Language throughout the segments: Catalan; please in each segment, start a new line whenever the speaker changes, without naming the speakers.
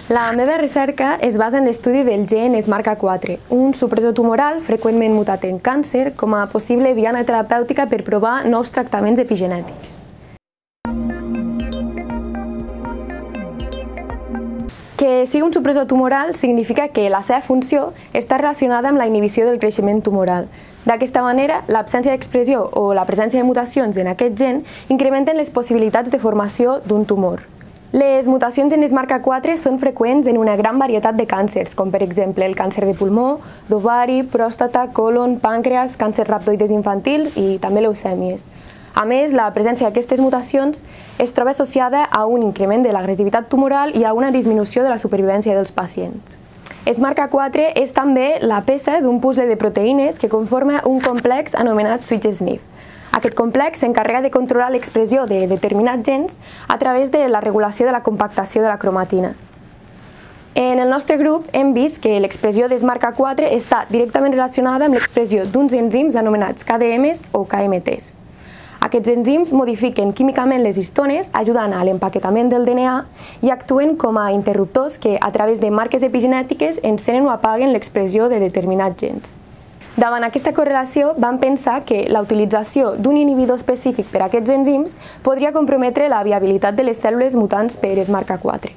La meva recerca es basa en l'estudi del gen SMARCA4, un supressor tumoral freqüentment mutat en càncer com a possible diana terapèutica per provar nous tractaments epigenètics. Que sigui un supressor tumoral significa que la seva funció està relacionada amb la inhibició del creixement tumoral. D'aquesta manera, l'absència d'expressió o la presència de mutacions en aquest gen incrementen les possibilitats de formació d'un tumor. Les mutacions en SMARCA4 són freqüents en una gran varietat de càncers, com per exemple el càncer de pulmó, d'ovari, pròstata, còlon, pàncreas, càncer rhabdoides infantils i també leucèmies. A més, la presència d'aquestes mutacions es troba associada a un increment de l'agressivitat tumoral i a una disminució de la supervivència dels pacients. SMARCA4 és també la peça d'un puzzle de proteïnes que conforma un complex anomenat switch-SNF. Aquest complex s'encarrega de controlar l'expressió de determinats gens a través de la regulació de la compactació de la cromatina. En el nostre grup hem vist que l'expressió de SMARCA4 està directament relacionada amb l'expressió d'uns enzims anomenats KDMs o KMTs. Aquests enzims modifiquen químicament les histones, ajudant a l'empaquetament del DNA i actuen com a interruptors que, a través de marques epigenètiques, encenen o apaguen l'expressió de determinats gens. Davant aquesta correlació, vam pensar que la utilització d'un inhibidor específic per a aquests enzims podria comprometre la viabilitat de les cèl·lules mutants per SMARCA4.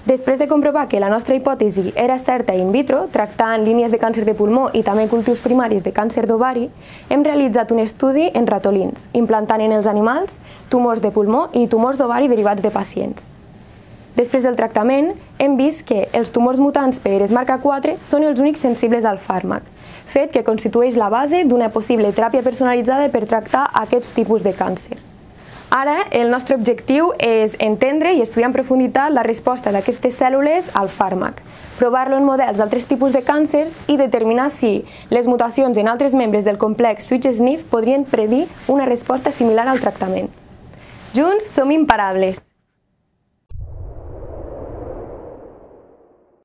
Després de comprovar que la nostra hipòtesi era certa in vitro, tractant línies de càncer de pulmó i també cultius primaris de càncer d'ovari, hem realitzat un estudi en ratolins, implantant en els animals tumors de pulmó i tumors d'ovari derivats de pacients. Després del tractament, hem vist que els tumors mutants per SMARCA4 són els únics sensibles al fàrmac, fet que constitueix la base d'una possible teràpia personalitzada per tractar aquests tipus de càncer. Ara, el nostre objectiu és entendre i estudiar en profunditat la resposta d'aquestes cèl·lules al fàrmac, provar-lo en models d'altres tipus de càncers i determinar si les mutacions en altres membres del complex switch-SNF podrien predir una resposta similar al tractament. Junts som imparables!